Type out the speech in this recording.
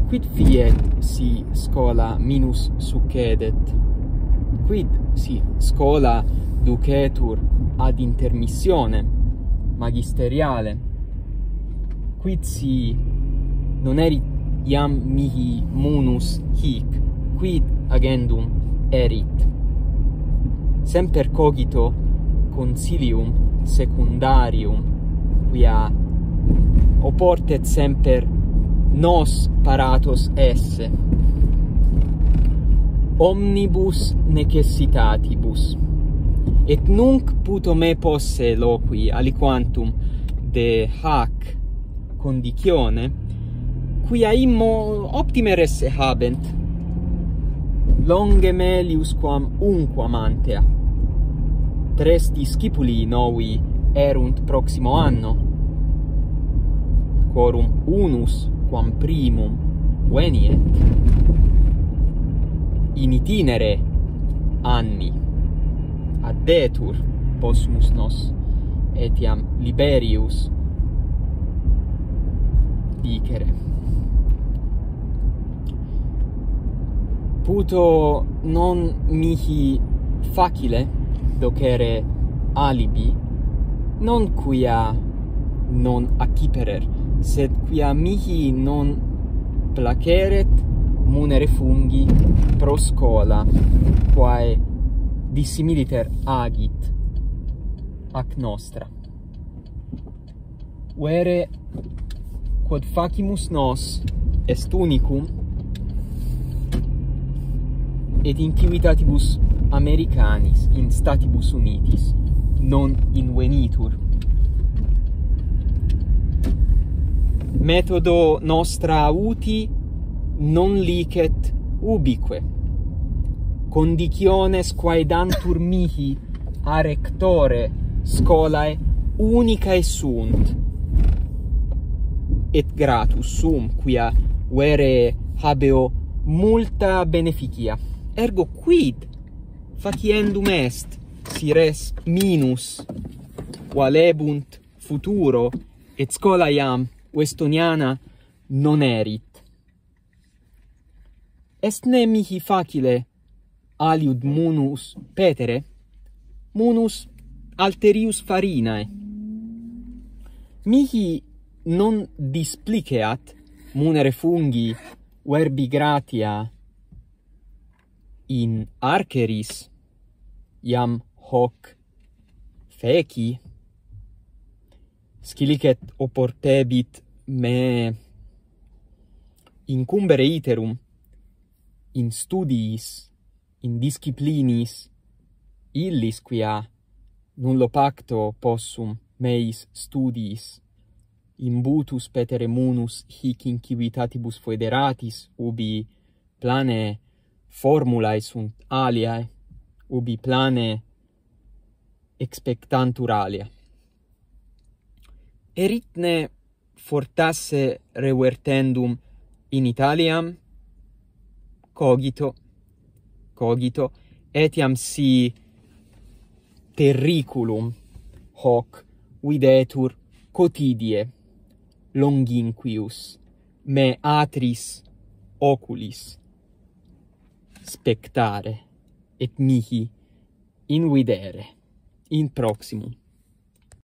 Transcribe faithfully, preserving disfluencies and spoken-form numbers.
Quid fiet si schola minus succedet? Quid si schola ducetur ad intermissione magisteriale? Quid si non erit iam mihi munus hic, quid agendum erit? Semper cogito consilium secundarium, quia oportet semper nos paratus esse, omnibus necessitatibus. Et nunc puto me posse loqui aliquantum de hac condicione, quia immo optime resse habent, longe melius quam unquam antea. Tres discipuli novi erunt proximo anno, quorum unus quam primum veniet, in itinere anni addetur possumus nos etiam liberius dicere. Puto non mihi facile docere alibi, non quia non acciperer, sed quia mihi non placeret munere fungi pro schola, quae dissimiliter agit ac nostra. Vere quod facimus nos est unicum, et in civitatibus Americanis, in Statibus Unitis, non invenitur. Methodo nostra uti non licet ubique. Conditiones quae dantur mihi a rectore scholae unicae sunt, et gratus sum, quia vere habeo multa beneficia. Ergo quid faciendum est si res minus valebunt futuro et schola iam Westoniana non erit? Est ne mihi facile aliud munus petere, munus alterius farinae? Mihi non displiceat munere fungi verbi gratia in arceris, iam hoc feci, scilicet oportebit me incumbere iterum in studiis, in disciplinis, illis quia nullo pacto possum meis studiis imbutus petere munus hic in civitatibus foederatis, ubi plane formulae sunt aliae, ubi plane expectantur alia. Erit ne fortasse revertendum in Italiam? Cogito, cogito, etiam si terriculum hoc videtur quotidie longinquius me atris oculis spectare et mihi invidere in proximum.